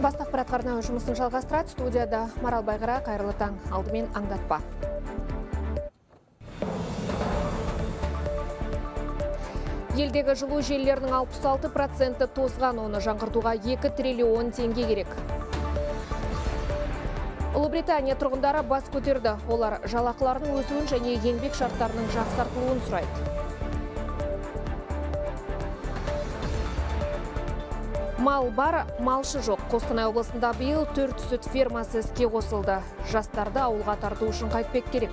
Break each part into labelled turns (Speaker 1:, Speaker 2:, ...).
Speaker 1: Бастық ақпарат жұмысын жалғастырады. Студияда Марал Байгара, қайырлы таң. Алдымен аңдатпа. Елдегі жылу желілерінің 66% тозған, оны жаңғыртуға 2 триллион теңге керек. Ұлыбритания тұрғындары бас көтерді. Олар жалақыларының өсуін және еңбек шарттарының жақсартылуын сұрайды. Мал бар, малшы жоқ. Қостанай облысында биыл 4 сүт фермасы іске қосылды. Жастарды ауылға тарту үшін қайтпек керек.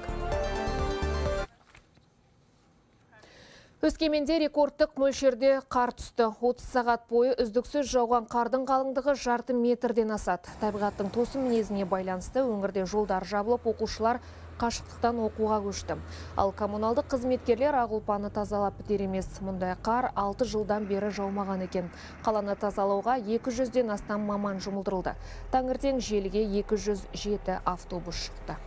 Speaker 1: Өскеменде рекордтық мөлшерде қар түсті. 30 сағат бойы үздіксіз жауған қардың қалыңдығы жарты метрден асады. Табиғаттың тосын мінезіне байланысты өңірде жолдар жабылып, оқушылар қашықтықтан оқуға көшті. Ал коммуналдық қызметкерлер Ақ-Ұлпаны тазалап бітер емес. Мұндай қар 6 жылдан бері жаумаған екен. Қаланы тазалауға 200-ден астам маман жұмылдырылды. Таңертең желіге 207 автобус шықты.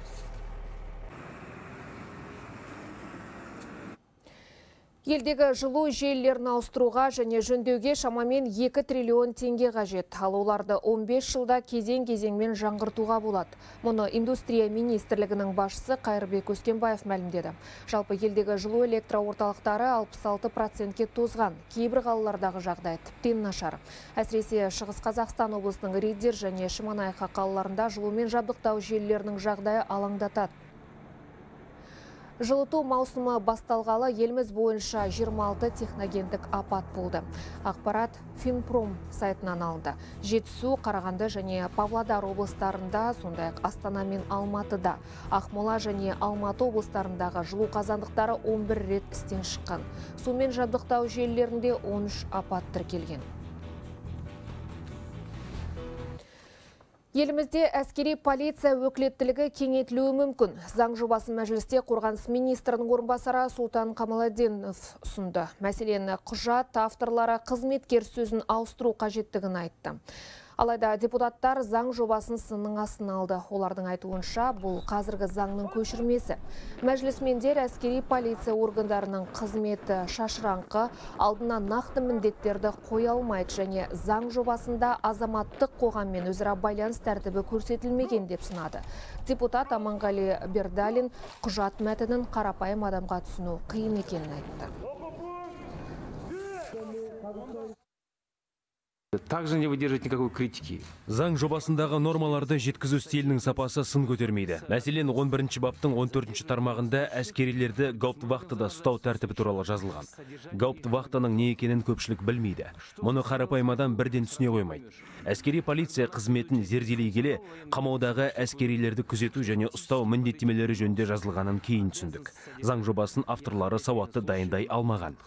Speaker 1: Елдегі жылу желілерін ауыстыруға және жөндеуге шамамен 2 триллион теңге қажет. Ал оларды 15 жылда кезең-кезеңмен жаңғыртуға болады. Мұны индустрия министрлігінің басшысы Қайырбек Өскенбаев мәлімдеді. Жалпы елдегі жылу электроорталықтары 66%-ке тозған. Кейбір қалалардағы жағдай тіптен нашар. Әсіресе Шығыс Қазақстан облысының Риддер және Шемонаиха қалаларында жылумен жабдықтау желілерінің жағдайы алаңдатады. Жылыту маусымы басталғалы еліміз бойынша 26 техногендік апат болды. Ақпарат Финпром сайтынан алынды. Жетісу, Қарағанды және Павлодар облыстарында, сондай-ақ Астана мен Алматыда, Ақмола және Алматы облыстарындағы жылу қазандықтары 11 рет істен шыққан. Сумен жабдықтау желілерінде 13 апат тіркелген. Елімізде әскери полиция өкілеттілігі кеңейтілуі мүмкін. Заң жобасын мәжілісте қорғаныс министрінің орынбасары Сұлтан Қамаладдинов ұсынды. Мәселен, құжат авторлары қызметкер сөзін ауыстыру қажеттігін айтты. Алайда депутаттар заң жобасын сынның астына алды. Олардың айтуынша, бұл қазіргі заңның көшірмесі. Мәжілісмендер әскери полиция органдарының қызметі шашыраңқы, алдына нақты міндеттерді қоя алмайды және заң жобасында азаматтық қоғаммен өзара байланыс тәртібі көрсетілмеген деп сынады. Депутат Аманғали Бердалин құжат мәтінін қарапайым адамға түсіну қиын екенін айтты.
Speaker 2: Также не выдерживает никакой критики.
Speaker 3: Заң жобасындағы нормаларды жеткізу стилінің сапасы сын көтермейді. Мәселен, 11-ші баптың 14-ші тармағында әскерилерді гауптвахтада ұстау тәртібі туралы жазылған. Гауптвахтаның не екенін көпшілік білмейді. Мұны қарапайым адам бірден түсіне қоймайды. Әскери полиция қызметін зерделей келе, қамаудағы әскерилерді күзету және ұстау міндеттемелері жөнінде жазылғанын кейін түсіндік. Заң жобасын авторлары сауатты дайындай алмаған.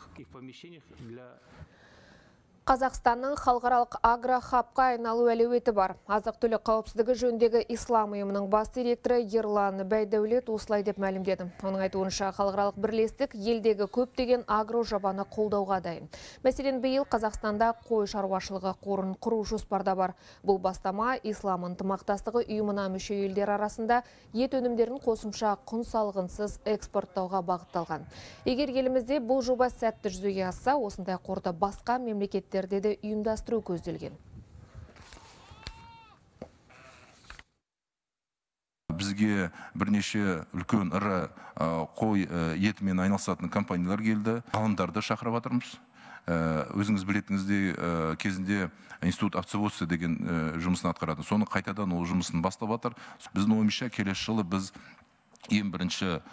Speaker 1: Қазақстанның халықаралық агрохабқа айналу әлеуеті бар. Азық-түлік қауіпсіздігі жөніндегі ислам ұйымының бас директоры Ерлан Бәйдәулет осылай деп мәлімдеді. Оның айтуынша халықаралық бірлестік елдегі көптеген агро жобаны қолдауға дайын. Мәселен, биыл Қазақстанда қой шаруашылығы қорын құру жоспарда бар. Бұл бастама ислам ынтымақтастығы ұйымына мүше елдер арасында ет өнімдерін қосымша құн салығынсыз экспорттауға бағытталған. Егер елімізде бұл жоба сәтті жүзеге асса, осындай қорды басқа мемлекеттер де ұйымдастыру көзделген.
Speaker 4: Бізге бірнеше үлкен ірі қой етімен айналысатын компаниялар келді. Ғалымдарды шақырып жатырмыз. Өзіңіз білетіңіздей кезінде институт овцеводства деген жұмысын атқарады. Соны қайтадан ол жұмысын бастап жатыр. Біздің ойымызша келесі жылы біз ең бірінші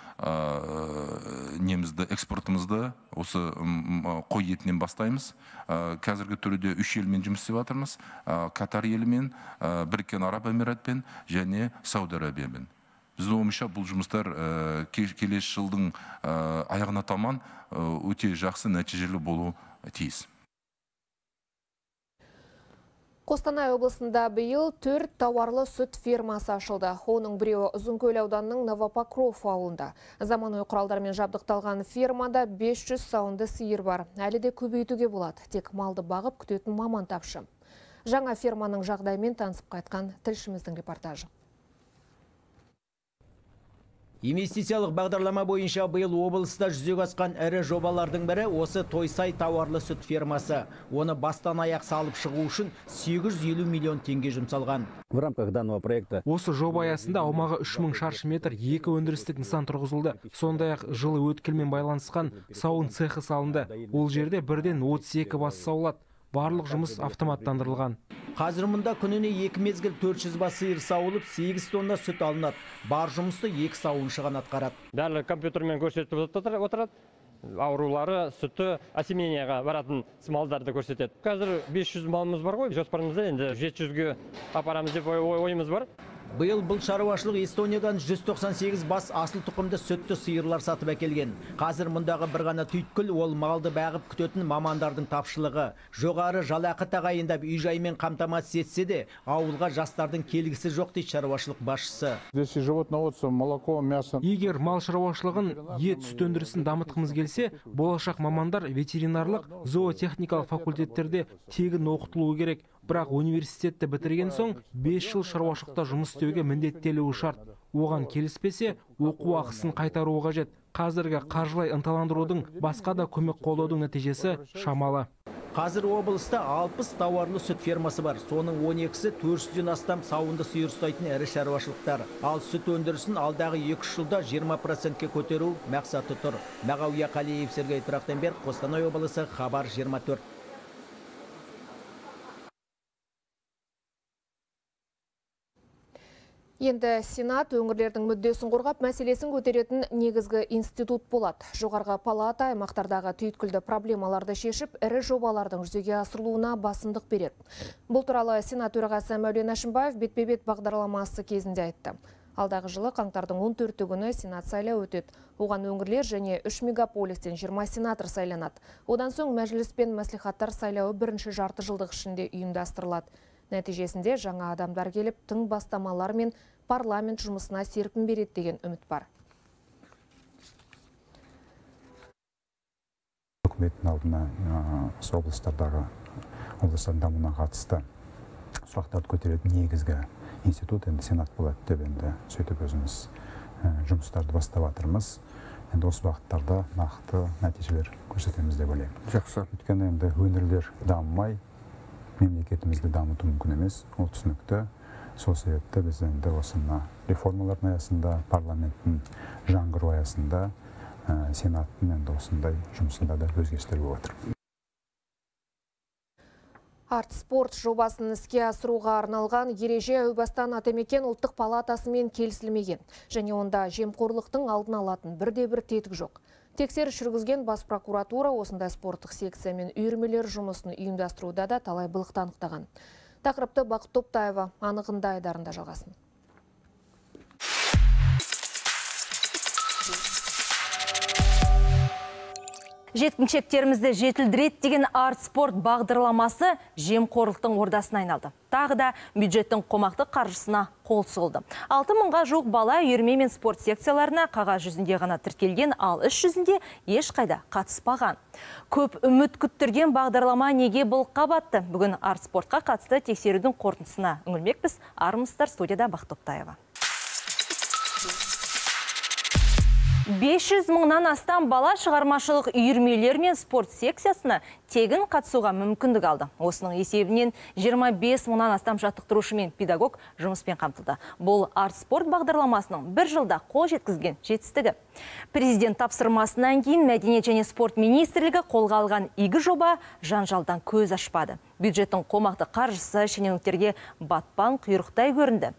Speaker 4: немізді экспортымызды осы қой етінен бастаймыз. Қазіргі түрде 3 елмен жұмыс істеп жатырмыз. Катар елімен, Біріккен Араб Эмиратпен және Сауд Арабиямен. Біздің ойымызша бұл жұмыстар келесі жылдың аяғына таман өте жақсы нәтижелі болу тиіс.
Speaker 1: Қостанай облысында биыл 4 тауарлы сүт фермасы ашылды. Оның біреуі Ұзынкөл ауданының Новопокров ауылында. Заманауи құралдармен жабдықталған фермада 500 сауынды сиыр бар. Әлі де көбейтуге болады. Тек малды бағып күтетін маман тапшы. Жаңа ферманың жағдайымен танысып қайтқан тілшіміздің репортажы.
Speaker 5: Инвестициялық бағдарлама бойынша биыл облыста жүзеге асқан ірі жобалардың бірі осы Тойсай тауарлы сүт фермасы. Оны бастан аяқ салып шығу үшін 850 миллион теңге жұмсалған.
Speaker 6: В рамках данного проекта
Speaker 7: осы жоба аясында аумағы 3000 шаршы метр 2 өндірістік нысан тұрғызылды. Сондай-ақ жылы өткелмен байланысқан сауын цехы салынды. Ол жерде бірден 32 бас саулады. Барлық жұмыс автоматтандырылған.
Speaker 5: Қазір мұнда күніне 2 мезгіл 400 бас сиыр сауылып, 8 тонна сүт алынады. Бар жұмысты 2 сауыншы ғана атқарады.
Speaker 8: Бәрі компьютермен көрсетіп отырады. Аурулары, сүті осеменияға баратын малдарды көрсетеді. Қазір 500 малымыз бар ғой, жоспарымызда енді 700-ге апарамыз деп ойымыз бар.
Speaker 5: Биыл бұл шаруашылық Эстониядан 198 бас асыл тұқымды сүтті сиырлар сатып әкелген. Қазір мұндағы бір ғана түйткіл ол малды бағып күтетін мамандардың тапшылығы. Жоғары жалақы тағайындап үй-жаймен қамтамасыз етсе де, ауылға жастардың келгісі жоқ дейді шаруашылық басшысы.
Speaker 7: Егер мал шаруашылығын, ет сүт өндірісін дамытқымыз келсе, болашақ мамандар ветеринарлық, зоотехникалық факультеттерде тегін оқытылуы керек. Бірақ университетті бітірген соң 5 жыл шаруашылықта жұмыс істеуге міндеттелуі шарт. Оған келіспесе, оқу ақысын қайтаруы қажет. Қазіргі қаржылай ынталандырудың басқа да көмек қолдаудың нәтижесі шамалы.
Speaker 5: Қазір облыста 60 тауарлы сүт фермасы бар. Соның 12-сі 400-ден астам сауынды сиыр ұстайтын ірі шаруашылықтар. Ал сүт өндірісін алдағы 2 жылда 20%-ке көтеру мақсаты тұр. Мағауия Қалиев, Сергей Трахтенберг, Қостанай облысы, Хабар 24.
Speaker 1: Енді Сенат өңірлердің мүддесін қорғап, мәселесін көтеретін негізгі институт болады. Жоғарғы палата аймақтардағы түйткілді проблемаларды шешіп, ірі жобалардың жүзеге асырылуына басымдық береді. Бұл туралы Сенат төрағасы Мәулен Әшімбаев бетпе-бет бағдарламасы кезінде айтты. Алдағы жылы қаңтардың 14 күні Сенат сайлауы өтеді. Оған өңірлер және 3 мегаполистен 20 сенатор сайланады. Одан соң мәжіліс пен мәслихаттар сайлауы бірінші жарты жылдық ішінде ұйымдастырылады. Нәтижесінде жаңа адамдар келіп, тың бастамалар мен парламент жұмысына серпін береді деген үміт бар.
Speaker 9: Үкіметтің алдына облыстардың дамуына қатысты сұрақтарды көтеретін негізгі институт енді Сенат болады деп енді сөйтіп өзіміз жұмыстарды бастап жатырмыз. Енді осы бағыттарда нақты нәтижелер көрсетеміз деп ойлаймын.
Speaker 6: Жақсы.
Speaker 9: Өйткені енді өңірлер дамымай мемлекетімізді дамыту мүмкін емес, ол түсінікті. Сол себепті біз енді осына реформалардың аясында, парламенттің жаңғыру аясында, Сенаттың енді осындай жұмысында да өзгерістер болып отыр.
Speaker 1: Арт-спорт жобасын іске асыруға арналған ереже әубастан Атамекен ұлттық палатасымен келісілмеген. Және онда жемқорлықтың алдын алатын бірде-бір тетік жоқ. Тексеріс жүргізген бас прокуратура осындай спорттық секция мен үйірмелер жұмысын ұйымдастыруда да талай былықты анықтаған. Тақырыпты Бақыт Топтаева анығында айдарында жалғасын.
Speaker 10: Жеткіншектерімізді жетілдірет деген арт-спорт бағдарламасы жемқорлықтың ордасына айналды. Тағы да бюджеттің қомақты қаржысына қол сұғылды. 6000-ға жуық бала үйірме мен спорт секцияларына қағаз жүзінде ғана тіркелген, ал іс жүзінде ешқайда қатыспаған. Көп үміт күттірген бағдарлама неге былыққа батты? Бүгін арт-спортқа қатысты тексерудің қорытындысына үңілмекпіз. Армысыздар, студияда Бақыт Топтаева. 500 мыңнан астам бала шығармашылық үйірмелер мен спорт секциясына тегін қатысуға мүмкіндік алды. Осының есебінен 25 мыңнан астам жаттықтырушы мен педагог жұмыспен қамтылды. Бұл арт-спорт бағдарламасының бір жылда қол жеткізген жетістігі. Президент тапсырмасынан кейін Мәдениет және спорт министрлігі қолға алған игі жоба жанжалдан көз ашпады. Бюджеттің қомақты қаржысы шенеуніктерге батпан құйрықтай көрінді.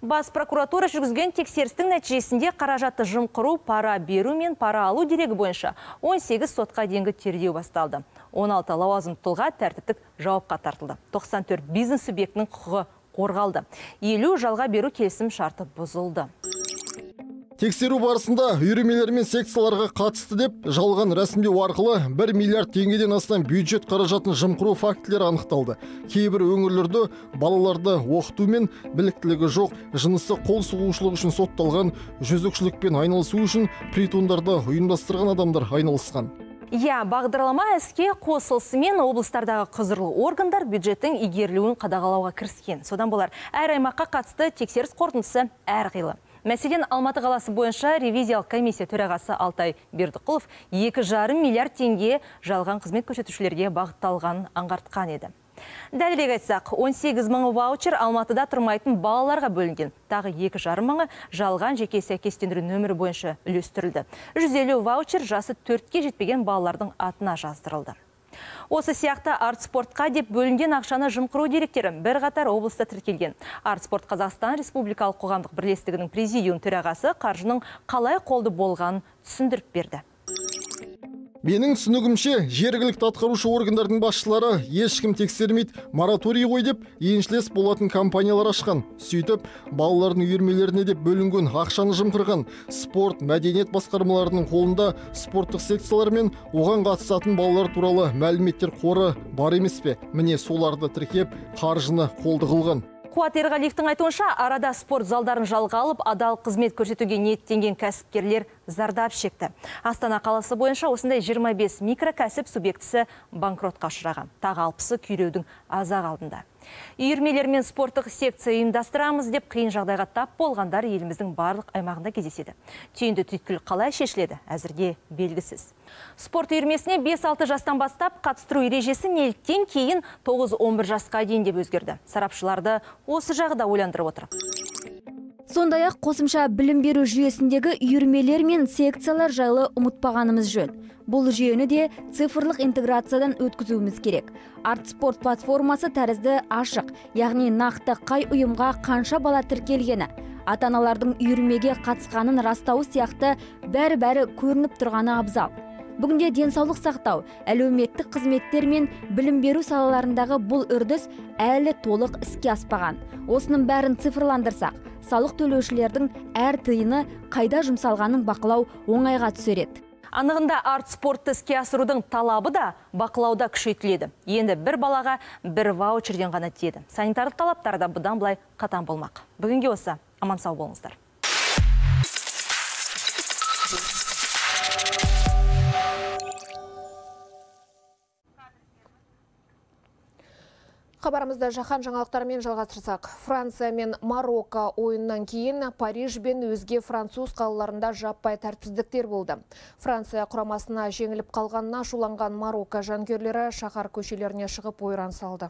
Speaker 10: Бас прокуратура жүргізген тексерістің нәтижесінде қаражатты жымқыру, пара беру мен пара алу дерегі бойынша 18 сотқа дейінгі тергеу басталды. 16 лауазым тұлға тәртіптік жауапқа тартылды. 94 бизнес субъектінің құқығы қорғалды. 50 жалға беру келісім шарты бұзылды.
Speaker 11: Тексеру барысында үйірмелер мен секцияларға қатысты деп жалған рәсімдеу арқылы 1 миллиард теңгеден астам бюджет қаражатын жымқыру фактілері анықталды. Кейбір өңірлерде балаларды оқыту мен біліктілігі жоқ, жынысы қол сұғушылық үшін сотталған, жөзекшілікпен айналысу үшін притондарда ұйымдастырған адамдар айналысқан.
Speaker 10: Бағдарлама іске қосылысымен облыстардағы құзырлы органдар бюджеттің игерілуін қадағалауға кіріскен. Содан болар әр аймаққа қатысты тексеріс қорытындысы әрқилы. Мәселен, Алматы қаласы бойынша ревизиялық комиссия төрағасы Алтай Бердіқұлов 2,5 миллиард теңге жалған қызмет көрсетушілерге бағытталғанын аңғартқан еді. Дәлірек айтсақ, 18 мыңы ваучер Алматыда тұрмайтын балаларға бөлінген. Тағы 2,5 мыңы жалған жеке сәйкестендіру нөмірі бойынша үлестірілді. 150 ваучер жасы 4-ке жетпеген балалардың атына жаздырылды. Осы сияқты арт-спортқа деп бөлінген ақшаны жымқыру деректері бірқатар облыста тіркелген. Арт-спорт Қазақстан Республикалық қоғамдық бірлестігінің президиум төрағасы қаржының қалай қолды болғанын түсіндіріп берді.
Speaker 11: Менің түсінігімше, жергілікті атқарушы органдардың басшылары ешкім тексермейді, мораторий қой деп еншілес болатын компаниялар ашқан. Сөйтіп, балалардың үйірмелеріне деп бөлінген ақшаны жымқырған. Спорт, мәдениет басқармаларының қолында спорттық секциялар мен оған қатысатын балалар туралы мәліметтер қоры бар емес пе? Міне соларды тіркеп, қаржыны қолды қылған.
Speaker 10: Қуат Ерғалиевтің айтуынша, арада спорт залдарын жалға алып, адал қызмет көрсетуге ниеттенген кәсіпкерлер зардап шекті. Астана қаласы бойынша осындай 25 микрокәсіп субъектісі банкротқа ұшыраған. Тағы 60-ы күйреудің азақ алдында. Үйірмелер мен спорттық секция ұйымдастырамыз деп қиын жағдайға тап болғандар еліміздің барлық аймағында кездеседі. Түйінді түйткіл қалай шешіледі, әзірге белгісіз. Спорт үйірмесіне 5-6 жастан бастап қатыстыру ережесі неліктен кейін 9-11 жасқа дейін деп өзгерді. Сарапшыларды осы жағы да ойландырып отыр.
Speaker 6: Сондай-ақ қосымша білім беру жүйесіндегі үйірмелер мен секциялар жайлы ұмытпағанымыз жөн. Бұл жүйені де цифрлық интеграциядан өткізуіміз керек. Арт-спорт платформасы тәрізді ашық, яғни нақты қай ұйымға қанша бала тіркелгені, ата-аналардың үйірмеге қатысқанын растауы сияқты бәрі көрініп тұрғаны абзал. Бүгінде денсаулық сақтау, әлеуметтік қызметтер мен білім беру салаларындағы бұл үрдіс әлі толық іске аспаған. Осының бәрін цифрландырсақ, салық төлеушілердің әр тиыны қайда жұмсалғанын бақылау оңайға түсер еді.
Speaker 10: Анығында арт-спортты іске асырудың талабы да бақылауда күшейтіледі. Енді бір балаға бір ваучерден ғана тиеді. Санитарлық талаптар да бұдан былай қатаң болмақ. Бүгінге осы. Аман сау болыңыздар.
Speaker 1: Хабарымызды жаһан жаңалықтарымен жалғастырсақ, Франция мен Марокко ойыннан кейін Париж бен өзге француз қалаларында жаппай тәртіпсіздіктер болды. Франция құрамасына жеңіліп қалғанына ашуланған Марокко жанкүйерлері шаһар көшелеріне шығып ойран салды.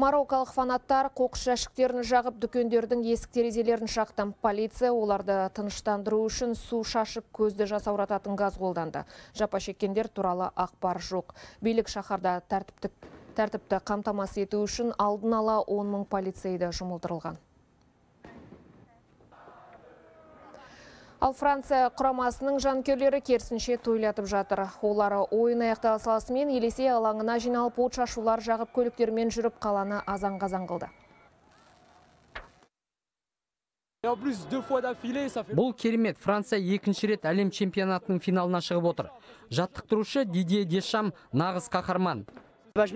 Speaker 1: Мароккалық фанаттар қоқыс жәшіктерін жағып, дүкендердің есік-терезелерін шақты. Полиция оларды тыныштандыру үшін су шашып, көзді жасаурататын газ қолданды. Жапа шеккендер туралы ақпар жоқ. Билік шаһарда тәртіпті қамтамасыз ету үшін алдын ала 10 мың полицейді жұмылдырылған. Ал Франция құрамасының жанкүйерлері керісінше тойлатып жатыр. Олары ойын аяқтала салысымен Елесей алаңына жиналып от шашулар жағып көліктермен жүріп қаланы азан-қазан қылды.
Speaker 12: Бұл керемет. Франция екінші рет әлем чемпионатының финалына шығып отыр. Жаттықтырушы Дидье Дешам нағыз қаһарман.
Speaker 13: Мен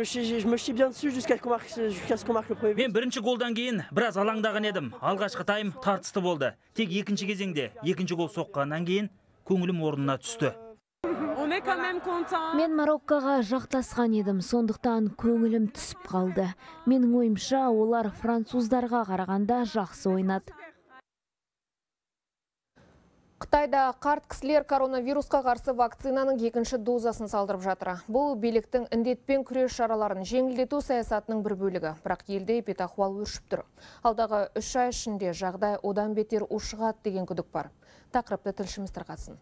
Speaker 13: бірінші голдан кейін біраз алаңдаған едім. Алғашқы тайм тартысты болды. Тек екінші кезеңде екінші гол соққаннан кейін көңілім орнына түсті.
Speaker 6: Мен Мароккоға жақтасқан едім, сондықтан көңілім түсіп қалды. Менің ойымша, олар француздарға қарағанда жақсы ойнады.
Speaker 1: Қытайда қарт кісілер коронавирусқа қарсы вакцинаның екінші дозасын салдырып жатыр. Бұл биліктің індетпен күрес шараларын жеңілдету саясатының бір бөлігі. Бірақ елде эпидахуал өршіп тұр. Алдағы 3 ай ішінде жағдай одан бетер ушығады деген күдік бар. Тақырыпты тілшіміз тарқатсын.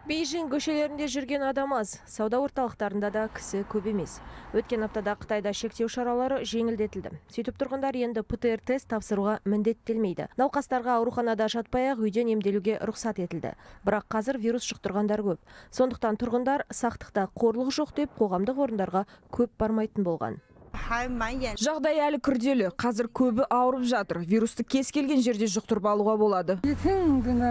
Speaker 14: Бейжің көшелерінде жүрген адам аз, сауда орталықтарында да кісі көп емес. Өткен аптада Қытайда шектеу шаралары жеңілдетілді. Сөйтіп тұрғындар енді ПЦР тест тапсыруға міндеттелмейді. Науқастарға ауруханада жатпай-ақ үйден емделуге рұқсат етілді. Бірақ қазір вирус жұқтырғандар көп. Сондықтан тұрғындар сақтықта қорлық жоқ деп қоғамдық орындарға көп бармайтын болған.
Speaker 15: Жағдай әлі күрделі. Қазір көбі ауырып жатыр. Вирусты кез келген жерде жұқтырып алуға болады.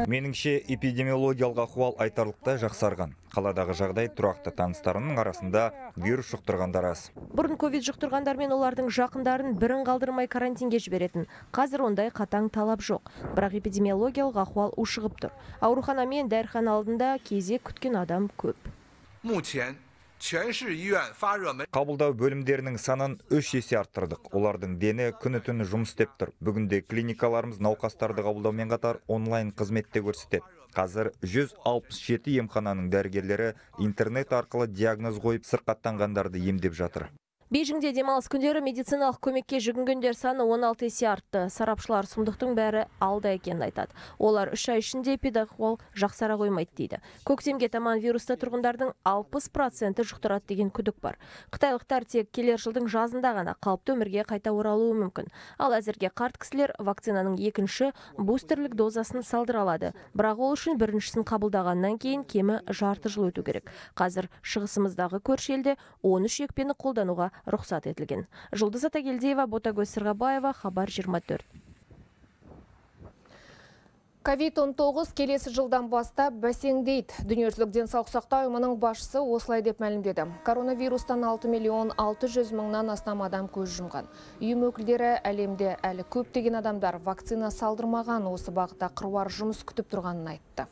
Speaker 16: Меніңше эпидемиологиялық ахуал айтарлықтай жақсарған. Қаладағы жағдай тұрақты, таныстарымның арасында вирус жұқтырғандар аз.
Speaker 14: Бұрын ковид жұқтырғандар мен олардың жақындарын бірін қалдырмай карантинге жіберетін. Қазір ондай қатаң талап жоқ. Бірақ эпидемиологиялық ахуал ушығып тұр. Аурухана мен дәріхана алдында кезек күткен адам көп.
Speaker 16: Қабылдау бөлімдерінің санын 3 есе арттырдық. Олардың дені күні-түні жұмыс істеп тұр. Бүгінде клиникаларымыз науқастарды қабылдаумен қатар онлайн қызметте көрсетеді. Қазір 167 емхананың дәрігерлері интернет арқылы диагноз қойып сырқаттанғандарды емдеп жатыр.
Speaker 14: Бейжіңде демалыс күндері медициналық көмекке жүгінгендер саны 16 есе артты. Сарапшылар сұмдықтың бәрі алда екенін айтады. Олар 3 ай ішінде эпидахуал жақсара қоймайды дейді. Көктемге таман вирусты тұрғындардың 60% жұқтырады деген күдік бар. Қытайлықтар тек келер жылдың жазында ғана қалыпты өмірге қайта оралуы мүмкін. Ал әзірге қарт кісілер вакцинаның екінші бустерлік дозасын салдыра алады. Бірақ ол үшін біріншісін қабылдағаннан кейін кемі жарты жыл өту керек. Қазір шығысымыздағы көрші елде 13 екпені қолдануға рұқсат етілген. Жұлдыз Атагелдиева, Ботагөз Сырғабаева, Хабар 24.
Speaker 1: COVID-19 келесі жылдан бастап бәсеңдейді. Дүниежүзілік денсаулық сақтау ұйымының басшысы осылай деп мәлімдеді. Коронавирустан 6.600.000-нан астам адам көз жұмған. Ұйым өкілдері әлемде әлі көптеген адамдар вакцина салдырмаған, осы бағытта қыруар жұмыс күтіп тұрғанын айтты.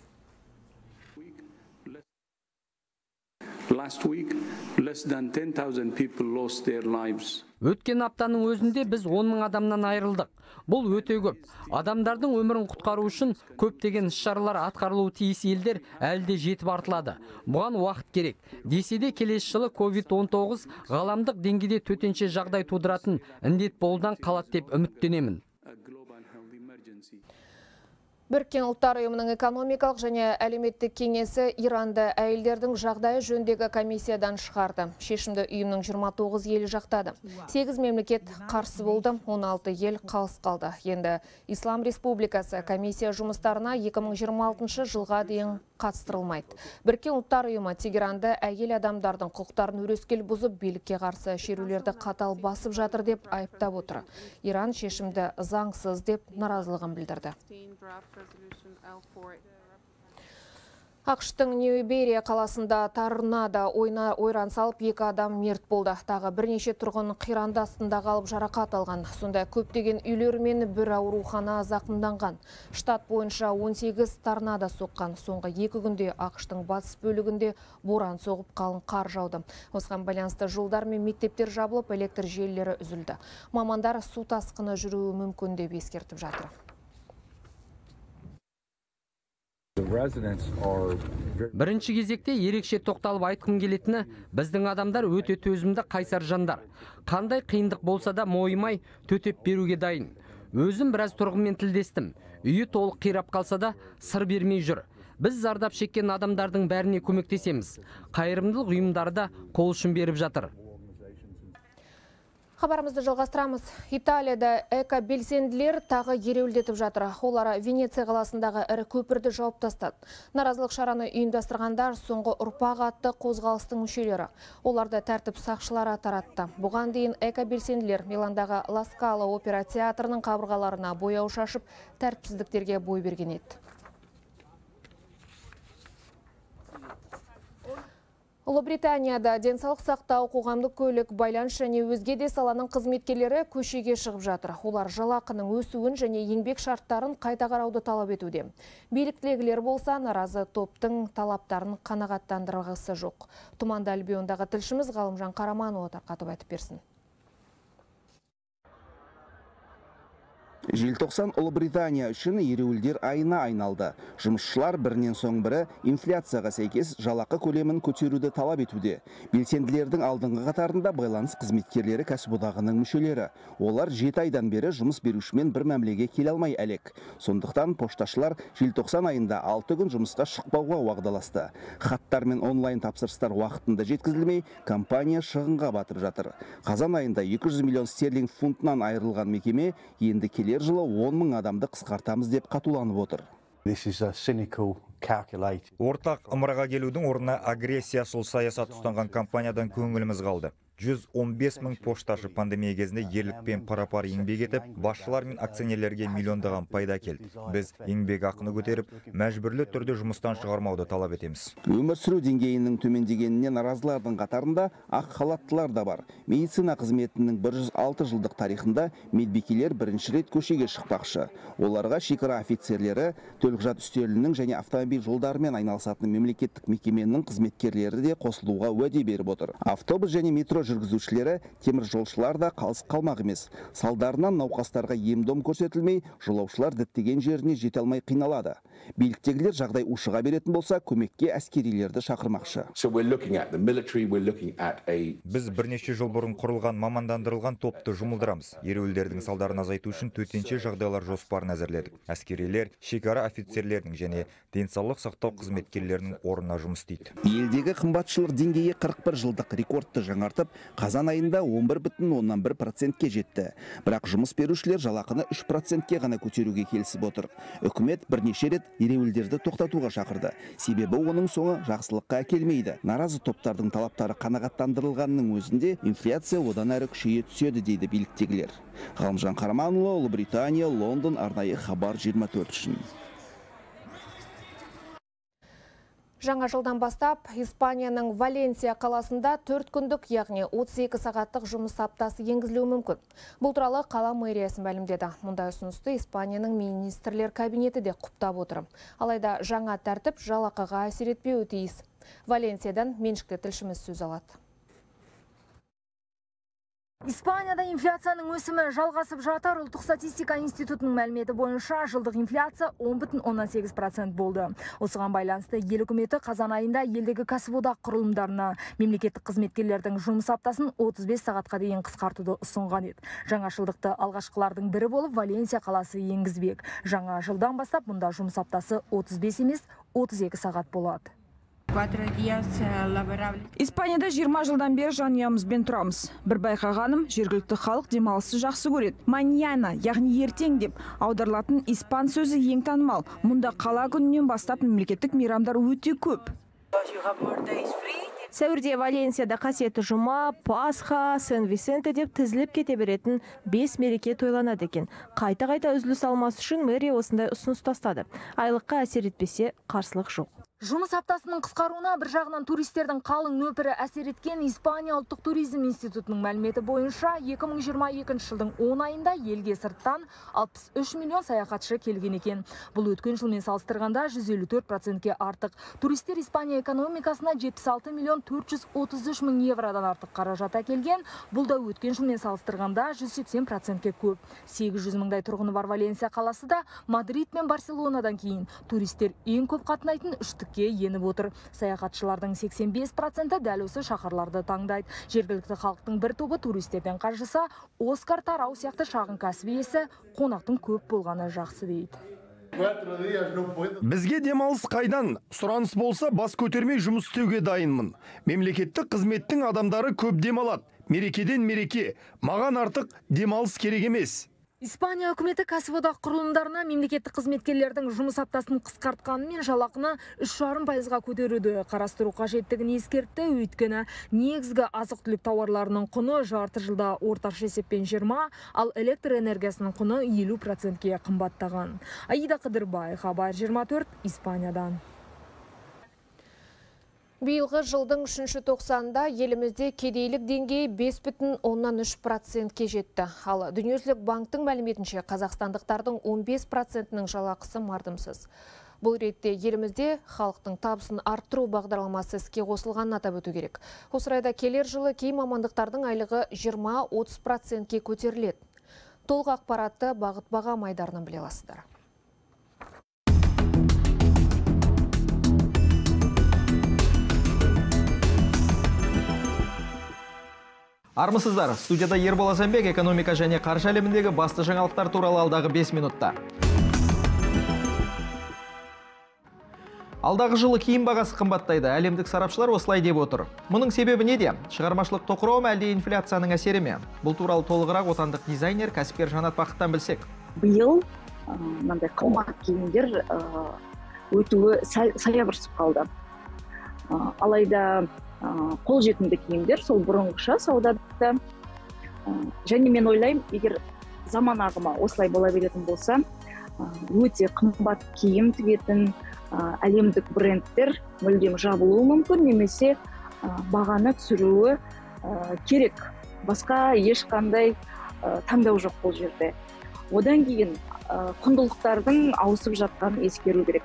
Speaker 12: Өткен аптаның өзінде біз 10.000 адамнан айырылдық. Бұл өте көп. Адамдардың өмірін құтқару үшін көптеген іс-шаралар атқарылуы тиіс елдер әлде жетіп артылады. Бұған уақыт керек. Десе де келесі жылы COVID-19 ғаламдық деңгейде төтенше жағдай тудыратын індет болудан қалады деп үміттенемін.
Speaker 1: Біріккен ұлттар ұйымының экономикалық және әлеуметтік кеңесі Иранды әйелдердің жағдайы жөніндегі комиссиядан шығарды. Шешімді ұйымның 29 елі жақтады. 8 мемлекет қарсы болды, 16 ел қалыс қалды. Енді Ислам Республикасы комиссия жұмыстарына 2026 жылға дейін қатыстырылмайды. Біріккен ұлттар ұйымы Тегеранды әйел адамдардың құқықтарын өрескел бұзып, билікке қарсы шерулерді қатал басып жатыр деп айыптап отыр. Иран шешімді заңсыз деп наразылығын білдірді. ақш-тың Нью-Берия қаласында торнадо ойран салып 2 адам мерт болды. Тағы бірнеше тұрғын қиранды астында қалып жарақат алған. Сонда көптеген үйлер мен бір аурухана зақымданған. Штат бойынша 18 торнадо соққан. Соңғы 2 күнде ақш-тың батыс бөлігінде боран соғып қалың қар жауды. Осыған байланысты жолдар мен мектептер жабылып, электр желілері үзілді. Мамандар су тасқыны жүруі мүмкін деп ескертіп жатыр.
Speaker 12: Бірінші кезекте ерекше тоқталып айтқым келетіні, біздің адамдар өте төзімді қайсар жандар. Қандай қиындық болса да мойымай төтеп беруге дайын. Өзім біраз тұрғынмен тілдестім. Үйі толық қирап қалса да сыр бермей жүр. Біз зардап шеккен адамдардың бәріне көмектесеміз. Қайырымдылық ұйымдары да қол ұшын беріп жатыр.
Speaker 1: Хабарымызды жалғастырамыз. Италияда эко-белсенділер тағы ереуілдетіп жатыр. Олар Венеция қаласындағы ірі көпірді жауып тастады. Наразылық шараны ұйымдастырғандар соңғы ұрпақ атты қозғалыстың мүшелері. Оларды тәртіп сақшылары таратты. Бұған дейін эко-белсенділер Миландағы Ла Скала опера театрының қабырғаларына бояу шашып, тәртіпсіздіктерге бой берген еді. Ұлыбританияда денсаулық сақтау, қоғамдық көлік, байланыс және өзге де саланың қызметкерлері көшеге шығып жатыр. Олар жалақының өсуін және еңбек шарттарын қайта қарауды талап етуде. Биліктегілер болса, наразы топтың талаптарын қанағаттандырғысы жоқ. Тұманды Альбиондағы тілшіміз Ғалымжан Қараманұлы тарқатып айтып берсін.
Speaker 17: Желтоқсан Ұлыбритания үшін ереуілдер айына айналды. Жұмысшылар бірінен соң бірі инфляцияға сәйкес жалақы көлемін көтеруді талап етуде. Белсенділердің алдыңғы қатарында байланыс қызметкерлері кәсіподағының мүшелері. Олар 7 айдан бері жұмыс берушімен бір мәмілеге келе алмай әлек. Сондықтан пошташылар желтоқсан айында 6 күн жұмысқа шықпауға уағдаласты. Хаттар мен онлайн тапсырыстар уақытында жеткізілмей, компания шығынға батырып жатыр. Қазан айында 200 миллион стерлинг фунтынан айырылған мекеме енді келер жылы 10.000 адамды қысқартамыз деп қатуланып отыр.
Speaker 16: Ортақ ымыраға келудің орнына агрессияшыл саясат ұстанған компаниядан көңіліміз қалды. 115 мың пошташы пандемия кезінде ерлікпен пара-пар еңбек етіп, басшылар мен акционерлерге миллиондаған пайда келді. Біз еңбек ақыны көтеріп, мәжбүрлі түрде жұмыстан шығармауды талап етеміз.
Speaker 17: Өмір сүру деңгейінің төмендегеніне наразылардың қатарында ақ халаттылар да бар. Медицина қызметінің 106 жылдық тарихында медбикелер бірінші рет көшеге шықпақшы. Оларға шекара офицерлері, төлқұжат үстелінің және автомобиль жолдарымен айналысатын мемлекеттік мекеменің қызметкерлері де қосылуға уәде беріп отыр. Автобус және метро жүргізушілері, темір жолшылар да қалыс қалмақ емес. Салдарынан науқастарға ем-дом көрсетілмей, жолаушылар діттеген жеріне жете алмай қиналады. Биліктегілер жағдай ушыға беретін болса, көмекке әскерилерді шақырмақшы.
Speaker 16: Біз бірнеше жыл бұрын құрылған мамандандырылған топты жұмылдырамыз. Ереуілдердің салдарын азайту үшін төтенше жағдайлар жоспарын әзірледік. Әскерилер, шекара офицерлерінің және денсаулық сақтау қызметкерлерінің орнына жұмыс істейді.
Speaker 17: Елдегі қымбатшылық деңгейі 41 жылдық рекордты жаңартып, қазан айында 11,1%-ке жетті. Бірақ жұмыс берушілер жалақыны 3%-ке ғана көтеруге келісіп отыр. Үкімет бірнеше рет ереуілдерді тоқтатуға шақырды. Себебі оның соңы жақсылыққа әкелмейді. Наразы топтардың талаптары қанағаттандырылғанның өзінде инфляция одан әрі күшейе түседі дейді биліктегілер. Ғалымжан Қараманұлы, Ұлыбритания, Лондон, арнайы хабар 24 үшін.
Speaker 1: Жаңа жылдан бастап, Испанияның Валенсия қаласында 4 күндік, яғни 32 сағаттық жұмыс аптасы енгізілуі мүмкін. Бұл туралы қала мэриясы мәлімдеді. Мұндай ұсынысты Испанияның министрлер кабинеті де құптап отыр. Алайда жаңа тәртіп жалақыға әсер етпеуі тиіс. Валенсиядан меншікті тілшіміз сөз алады.
Speaker 18: Испанияда инфляцияның өсімі жалғасып жатыр. Ұлттық статистика институтының мәліметі бойынша жылдық инфляция 10,18% болды. Осыған байланысты ел үкіметі қазан айында елдегі кәсіподақ құрылымдарына мемлекеттік қызметкерлердің жұмыс аптасын 35 сағатқа дейін қысқартуды ұсынған еді. Жаңашылдықты алғашқылардың бірі болып Валенсия қаласы енгізбек. Жаңа жылдан бастап мұнда жұмыс аптасы 35 емес 32 сағат болады.
Speaker 15: Испанияда 20 жылдан бері жанұямызбен тұрамыз. Бір байқағаным, жергілікті халық демалысты жақсы көреді. Маньяна, яғни ертең деп аударылатын испан сөзі ең танымал. Мұнда қала күнінен бастап мемлекеттік мейрамдар өте көп.
Speaker 14: Сәуірде Валенсияда қасиетті жұма, Пасха, Сен-Висенте деп тізіліп кете беретін 5 мереке тойланады екен. Қайта-қайта үзіліс алмас үшін мэрия осындай ұсыныс тастады. Айлыққа әсер етпесе қарсылық жоқ.
Speaker 18: Жұмыс аптасының қысқаруына бір жағынан туристердің қалың нөпірі әсер еткен. Испания ұлттық туризм институтының мәліметі бойынша 2022 жылдың 10 айында елге сырттан 63 миллион саяхатшы келген екен. Бұл өткен жылмен салыстырғанда 154%-ке артық. Туристер Испания экономикасына 76 миллион 433 мың евродан артық қаражат әкелген. Бұл да өткен жылмен салыстырғанда 180%-ке көп. 800 мыңдай тұрғыны бар Валенсия қаласы да Мадрид мен Барселонадан кейін туристер ең көп қатынайтын үштікке еніп отыр. Саяхатшылардың 85%-і дәл осы шаһарларды таңдайды. Жергілікті халықтың бір тобы туристерден қаржыса, Оскар Тарау сияқты шағын кәсіп иесі қонақтың көп болғаны жақсы дейді.
Speaker 11: Бізге демалыс қайдан? Сұраныс болса бас көтермей жұмыс істеуге дайынмын. Мемлекеттік қызметтің адамдары көп демалады. Мерекеден мереке. Маған артық демалыс керек емес.
Speaker 18: Испания үкіметі кәсіподақ құрылымдарына мемлекеттік қызметкерлердің жұмыс аптасын қысқартқанымен жалақыны 3,5%-ға көтеруді қарастыру қажеттігін ескертті. Өйткені негізгі азық-түлік тауарларының құны жарты жылда орташа есеппен 20, ал электр энергиясының құны 50%-ке қымбаттаған. Аида Қыдырбай, хабар 24, Испаниядан.
Speaker 1: Биылғы жылдың 3-ші тоқсанында елімізде кедейлік деңгейі 5,3%-ке жетті. Ал Дүниежүзілік банктың мәліметінше қазақстандықтардың 15%-ның жалақысы мардымсыз. Бұл ретте елімізде халықтың табысын арттыру бағдарламасы іске қосылғанын атап өту керек. Осы орайда келер жылы кей мамандықтардың айлығы 20-30%-ке көтеріледі. Толық ақпаратты Бағыт Бағам айдарынан біле аласыздар.
Speaker 19: Армысыздар, студияда Ербол Азанбек экономика және қаржы әлеміндегі басты жаңалықтар туралы алдағы 5 минутта. Алдағы жылы киім бағасы қымбаттайды. Әлемдік сарапшылар осылай деп отыр. Мұның себебі неде? Шығармашылық тоқырау ма әлде инфляцияның әсері ме? Бұл туралы толығырақ отандық дизайнер, кәсіпкер Жанат Бақыттан білсек.
Speaker 20: Биыл мынандай қымбат киімдер өтуі саябырсып қалды. Алайда қолжетімді киімдер, сол бұрынғыша саудада. Және мен ойлаймын, егер заман ағымы осылай бола беретін болса, өте қымбат киім тігетін әлемдік брендтер мүлдем жабылуы мүмкін, немесе бағаны түсіруі керек. Басқа ешқандай таңдау жоқ бұл жерде. Одан кейін құндылықтардың ауысып жатқанын ескеру керек.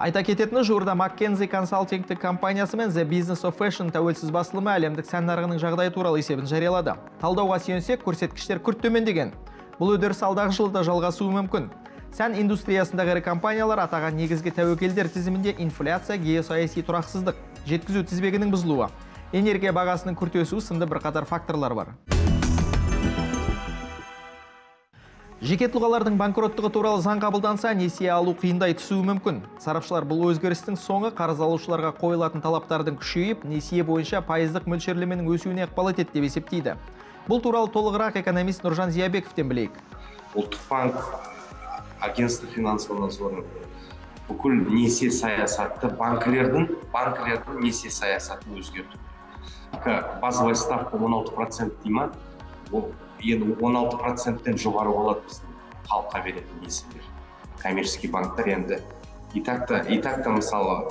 Speaker 19: Айта кететіні, жуырда McKinsey консалтингтік компаниясы мен The Business of Fashion тәуелсіз басылымы әлемдік сән нарығының жағдайы туралы есебін жариялады. Талдауға сүйенсек, көрсеткіштер күрт төмендеген. Бұл үдеріс алдағы жылда жалғасуы мүмкін. Сән индустриясындағы ірі компаниялар атаған негізгі тәуекелдер тізімінде инфляция, геосаяси тұрақсыздық, жеткізу тізбегінің бұзылуы, энергия бағасының күрт өсуі сынды бірқатар факторлар бар. Жеке тұлғалардың банкроттығы туралы заң қабылданса, несие алу қиындай түсуі мүмкін. Сарапшылар бұл өзгерістің соңы қарыз алушыларға қойылатын талаптардың күшейіп, несие бойынша пайыздық мөлшерлеменің өсуіне ықпал етеді деп есептейді. Бұл туралы толығырақ экономист Нұржан Зиябековтен білейік.
Speaker 21: Ұлттық банк, агентство финансового надзора бүкіл несие саясатты, банкілердің несие саясатын өзгерту. Базовая ставка 16% дейма, енді 16%-тен жоғары болады біздің халыққа беретін несиелер. Коммерческий банктар енді и так-та мысалы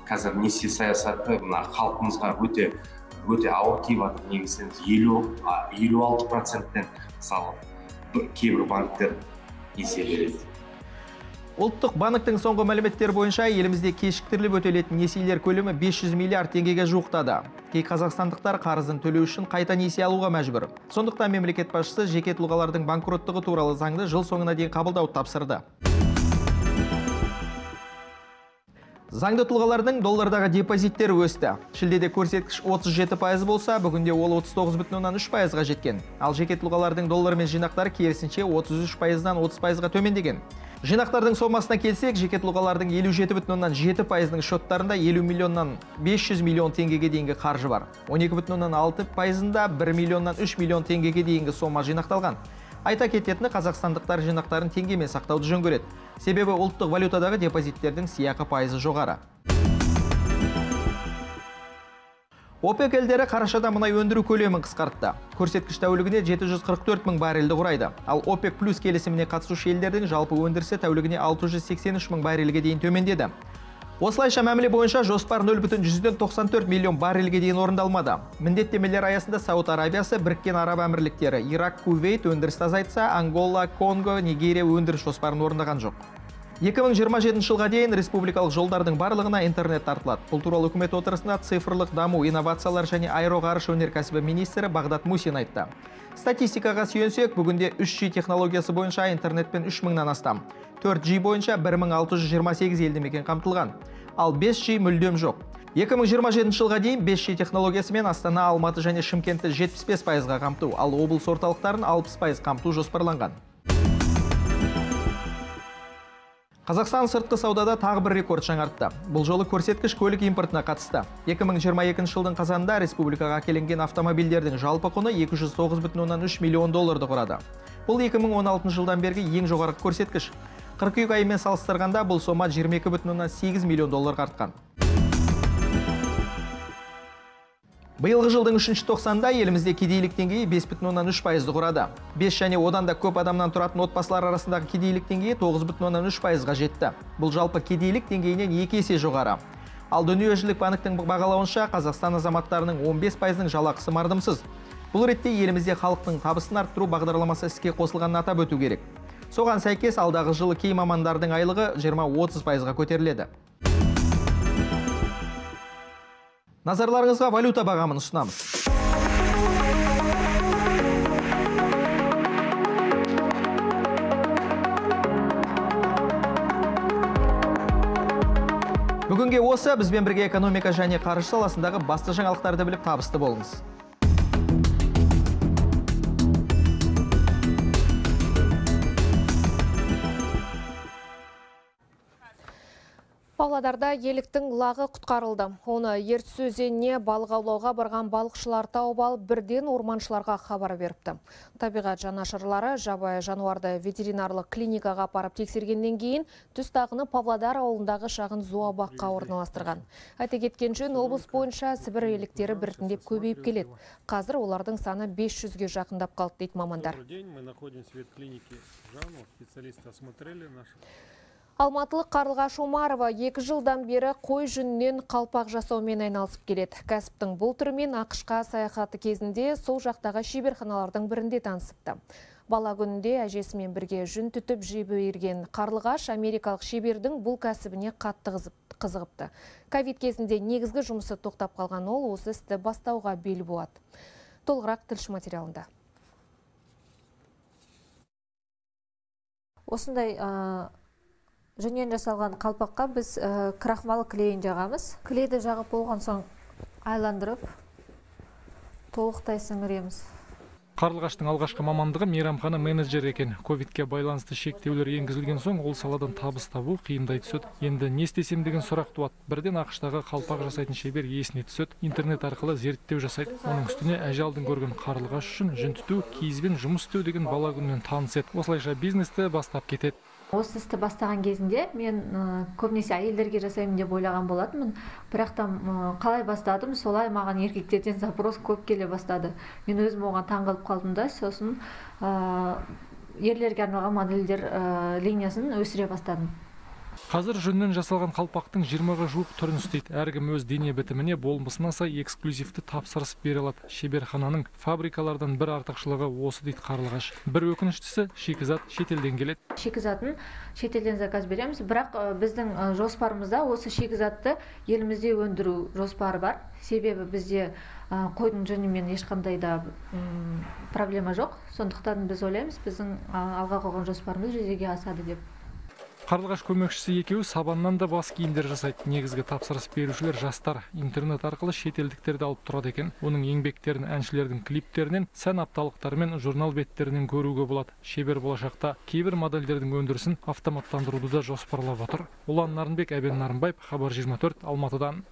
Speaker 21: қазір несие саясаты халқымызға өте ауыр тиіп жатыр. Негізінен 56%-тен мысалы кейбір банктер несие береді.
Speaker 19: Ұлттық банктың соңғы мәліметтер бойынша елімізде кешіктіріліп өтелетін несиелер көлемі 500 миллиард теңгеге жуықтады. Кей қазақстандықтар қарызын төлеу үшін қайта несие алуға мәжбүр. Сондықтан мемлекет басшысы жеке тұлғалардың банкроттығы туралы заңды жыл соңына дейін қабылдауды тапсырды. Заңды тұлғалардың доллардағы депозиттері өсті. Шілдеде көрсеткіш 37% болса, бүгінде ол 39,3%-ға жеткен. Ал жеке тұлғалардың доллармен жинақтары керісінше 33%-дан 30%-ға төмендеген. Жинақтардың сомасына келсек, жеке тұлғалардың 57,7%-ның шоттарында 50 миллионнан 500 миллион теңгеге дейінгі қаржы бар. 12,6%-ында 1 миллионнан 3 миллион теңгеге дейінгі сома жинақталған. Айта кететіні, қазақстандықтар жинақтарын теңгемен сақтауды жөн көреді. Себебі ұлттық валютадағы депозиттердің сыйақы пайызы жоғары. ОПЕК елдері қарашада мұнай өндіру көлемін қысқартты. Көрсеткіш тәулігіне 744 мың баррельді құрайды. Ал ОПЕК плюс келісіміне қатысушы елдердің жалпы өндірісі тәулігіне 683 мың баррельге дейін төмендеді. Осылайша мәміле бойынша жоспар 0,94 миллион баррельге дейін орындалмады. Міндеттемелер аясында Сауд Арабиясы, Біріккен Араб Әмірліктері, Ирак, Кувейт өндірісті азайтса, Ангола, Конго, Нигерия өндіріс жоспарын орындаған жоқ. 2027 жылға дейін республикалық жолдардың барлығына интернет тартылады. Бұл туралы үкімет отырысында цифрлық даму, инновациялар және аэроғарыш өнеркәсібі министрі Бағдат Мусин айтты. Статистикаға сүйенсек, бүгінде 3G технологиясы бойынша интернетпен 3000-нан астам, 4G бойынша 1628 елді мекен қамтылған, ал 5G мүлдем жоқ. 2027 жылға дейін 5G технологиясымен Астана, Алматы және Шымкентті 75%-ға қамту, ал облыс орталықтарын 60% қамту жоспарланған. Қазақстан сыртқы саудада тағы бір рекорд жаңартты. Бұл жолы көрсеткіш көлік импортына қатысты. 2022 жылдың қазанында республикаға әкелінген автомобильдердің жалпы құны 209,3 миллион долларды құрады. Бұл 2016 жылдан бергі ең жоғары көрсеткіш. Қыркүйек айымен салыстырғанда бұл сома 22,8 миллион долларға артқан. Биылғы жылдың 3-ші тоқсанда елімізде кедейлік деңгейі 5,3%-ды құрады. 5 және одан да көп адамнан тұратын отбасылар арасындағы кедейлік деңгейі 9,3%-ға жетті. Бұл жалпы кедейлік деңгейінен 2 есе жоғары. Ал дүниежүзілік банктің бағалауынша Қазақстан азаматтарының 15%-ның жалақысы мардымсыз. Бұл ретте елімізде халықтың табысын арттыру бағдарламасы іске қосылғанын атап өту керек. Соған сәйкес алдағы жылы кей мамандардың айлығы 20-30%-ға көтеріледі. Назарларыңызға валюта бағамын ұсынамыз. Бүгінге осы, бізбен бірге экономика және қаржы саласындағы басты жаңалықтарды біліп табысты болыңыз.
Speaker 1: Павлодарда еліктің лағы құтқарылды. Оны Ертіс өзеніне балық аулауға барған балықшылар тауып алып, бірден орманшыларға хабар беріпті. Табиғат жанашырлары жабайы жануарды ветеринарлық клиникаға апарып тексергеннен кейін түс тағыны Павлодар ауылындағы шағын зообаққа орналастырған. Айта кеткен жөн, облыс бойынша Сібір еліктері біртіндеп көбейіп келеді. Қазір олардың саны 500-ге жақындап қалды дейді мамандар. Алматылық Қарлығаш Омарова 2 жылдан бері қой жүнінен қалпақ жасаумен айналысып келеді. Кәсіптің бұл түрімен ақш-қа саяхаты кезінде сол жақтағы шеберханалардың бірінде танысыпты. Бала күнінде әжесімен бірге жүн түтіп жеп ерген Қарлығаш америкалық шебердің бұл кәсібіне қатты қызығыпты. Ковид кезінде негізгі жұмысы тоқтап қалған ол осы істі бастауға бел буады. Толығырақ тілші материалында.
Speaker 2: Осындай жүннен жасалған қалпаққа біз крахмал клейін жағамыз. Клейді жағып болған соң айландырып, толықтай сіңіреміз.
Speaker 7: Қарлығаштың алғашқы мамандығы мейрамхана менеджер екен. Ковидке байланысты шектеулер енгізілген соң ол саладан табыс табу қиындай түседі. Енді не істесем деген сұрақ туады. Бірден ақштағы қалпақ жасайтын шебер есіне түседі. Интернет арқылы зерттеу жасайды. Оның үстіне әжалдың көрген Қарлығаш үшін жүн түту, киізбен жұмыс істеу деген бала күннен таныс еді. Осылайша бизнесті бастап кетеді.
Speaker 2: Осы істі бастаған кезінде мен көбінесе әйелдерге жасаймын деп ойлаған болатынмын. Бірақ та қалай бастадым, солай маған еркектерден запрос көп келе бастады. Мен өзім оған таңғалып қалдым да, сосын ерлерге арналған модельдер линиясын өсіре бастадым.
Speaker 7: Қазір жүннен жасалған қалпақтың 20-ға жуық түрін істейді. Әркім өз дене бітіміне болмысына сай эксклюзивті тапсырыс бере алады. Шеберхананың фабрикалардан бір артықшылығы осы дейді Қарлығаш. Бір өкініштісі шикізат шетелден келеді.
Speaker 2: Шикізатын шетелден заказ береміз, бірақ біздің жоспарымызда осы шикізатты елімізде өндіру жоспары бар. Себебі бізде қойдың жүнімен ешқандай да проблема жоқ. Сондықтан біз ойлаймыз, біздің алға қойған жоспарымыз жүзеге асады деп.
Speaker 7: Қарлығаш көмекшісі екеуі сабаннан да бас киімдер жасайды. Негізгі тапсырыс берушілер жастар. Интернет арқылы шетелдіктерді алып тұрады екен. Оның еңбектерін әншілердің клиптерінен, сән апталықтары мен журнал беттерінен көруге болады. Шебер болашақта кейбір модельдердің өндірісін автоматтандыруды да жоспарлап отыр. Ұлан Нарынбек, Әбен Нарынбаев, Хабар 24, Алматыдан.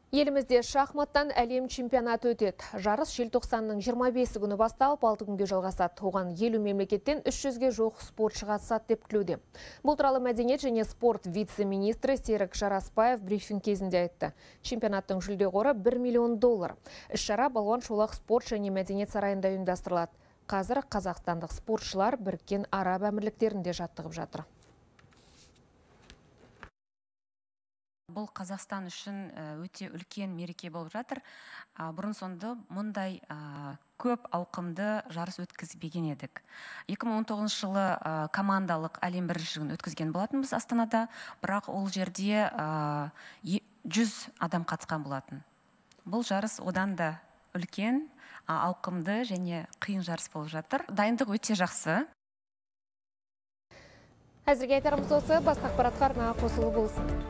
Speaker 1: Елімізде шахматтан әлем чемпионаты өтеді. Жарыс желтоқсанның 25 күні басталып, 6 күнге жалғасады. Оған 50 мемлекеттен 300-ге жоқ спортшы қатысады деп күтілуде. Бұл туралы мәдениет және спорт вице-министрі Серік Жарасбаев брифинг кезінде айтты. Чемпионаттың жүлде қоры $1 миллион. Іс-шара Балуан Шолақ спорт және мәдениет сарайында ұйымдастырылады. Қазір қазақстандық спортшылар Біріккен Араб Әмірліктерінде жаттығып жатыр.
Speaker 22: Бұл Қазақстан үшін өте үлкен мереке болып жатыр. Бұрын соңды мұндай көп ауқымды жарыс өткізбеген едік. 2019 жылы командалық әлем біріншілігін өткізген болатынбыз Астанада, бірақ ол жерде 100 адам қатысқан болатын. Бұл жарыс одан да үлкен, ауқымды және қиын жарыс болып жатыр. Дайындық өте жақсы.
Speaker 1: Әзірге айтарымыз осы, басқа ақпаратқа арна қосылу болсын.